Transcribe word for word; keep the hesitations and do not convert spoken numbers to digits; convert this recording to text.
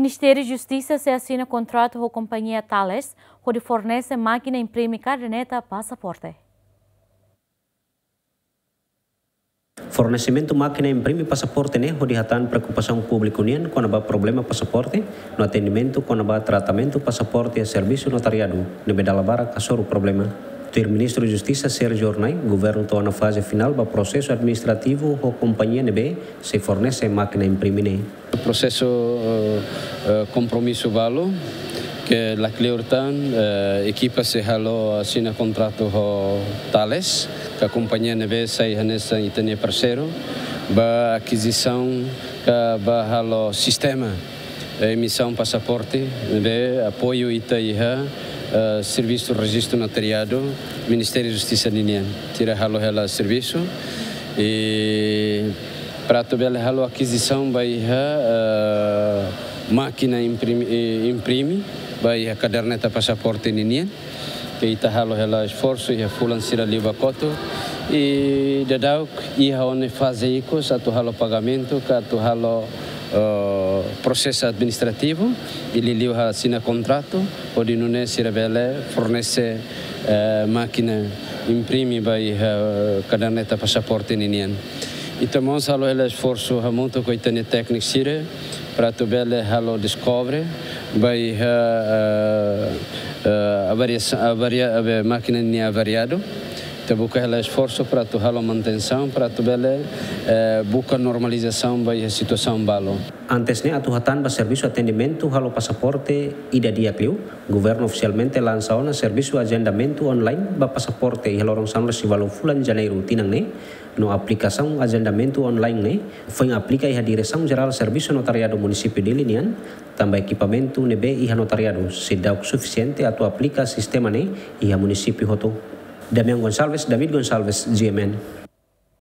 Ministériu Justisa sei asina kontratu ho kompañia Thales hodi fornese mákina imprime kaderneta pasaporte. Fornesimentu mákina imprime pasaporte ne'e hodi hatán preokupasaun públiku nian kona-ba problema pasaporte no atendimentu kona-ba tratamentu pasaporte iha servisu notariadu ne'ebé dala barak hasoru problema. Tuir Ministru Justisa Sérgio Hornai, governu to'o ona faze finál ba prosesu administrativu ho kompañia ne'ebé sei fornese mákina imprime ne'e. Prosesu, eh, eh, kompromisu balu ke lakleur tan, eh, ekipa sei halo asina kontratu ho Thales, ka kompañia ne'ebé sai hanesan ita-nia parseiru, ba akizisaun ka ba halo sistema, eh, emisaun pasaporte, ne'ebé apoiu ita iha, eh, servisu rejistu notariadu, Ministériu Justisa ninian. Sira halo hela servisu, i para atu bele halo akizisaun ba iha, eh, mákina imprime, eh, imprime ba iha kaderneta pasaporte ninian. Ke ita halo hela esforsu iha fulan sira liubá kotuk. I daudauk iha ona faze ikus atu halo pagamentu, ka atu halo, eh, prosesu administrativu, i liuliu asina kontratu, hodi nune'e sira bele fornese, eh, mákina imprime ba iha, eh, kaderneta pasaporte ninian. Ita mós halo hela esforsu hamutuk ho ita-nia tékniku sira, para atu bele halo deskobre ba iha, eh, eh, avariasaun, avaria, ave, mákina nia avariadu. Ita buka hela esforsu para atu halo manutensaun, para atu bele, eh, buka normalizasaun ba iha situasaun balu. Antes ne'e atu hatán ba servisu atendimentu halo pasaporte ida di'ak liu, governu ofisialmente lansa ona servisu ajendamentu online ba pasaporte iha loron sanulu-resin-ualu fulan Janeiru tinan ne'e, no aplikasaun ajendamentu online ne'e foin aplika iha Diresaun Jerál Servisu Notariadu Munisípiu Dili nian, tanba ekipamentu ne'ebé iha notariadu seidauk sufisiente atu aplika sistema ne'e iha munisípiu hotu. Damian Gonçalves, David Gonçalves, G M N.